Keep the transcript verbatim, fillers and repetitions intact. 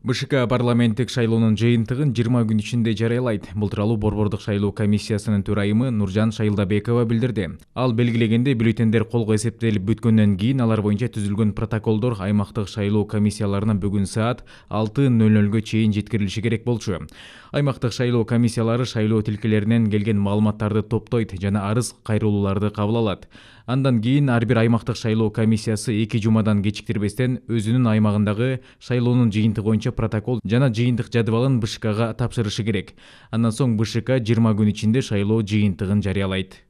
БШК парламенттик шайлоонун жыйынтыгын жыйырма күн ичинде жарыялайт. Бул тууралуу Борбордук шайлоо комиссиясынын төрайымы Нуржан Шайылдабекова билдирди. Ал белгилегенде, бюллетендер колго эсептелип бүткөндөн кийин алар боюнча түзүлгөн протоколдор аймактык шайлоо комиссияларына бүгүн саат алты нөл нөлгө чейин жеткирилиши керек болчу. Аймактык шайлоо комиссиялары шайлоо тилкелеринен келген маалыматтарды топтойт жана арыз кайрылууларды кабыл алат. Андан кийин ар бир аймактык шайлоо комиссиясы эки жумадан кечиктирбестен өзүнүн аймагындагы шайлоонун жыйынтыгы боюнча протокол жана жыйынтык жадыбалын БШКга тапшырышы керек. Андан соң БШК жыйырма күн ичинде шайлоо жыйынтыгын жарыялайт.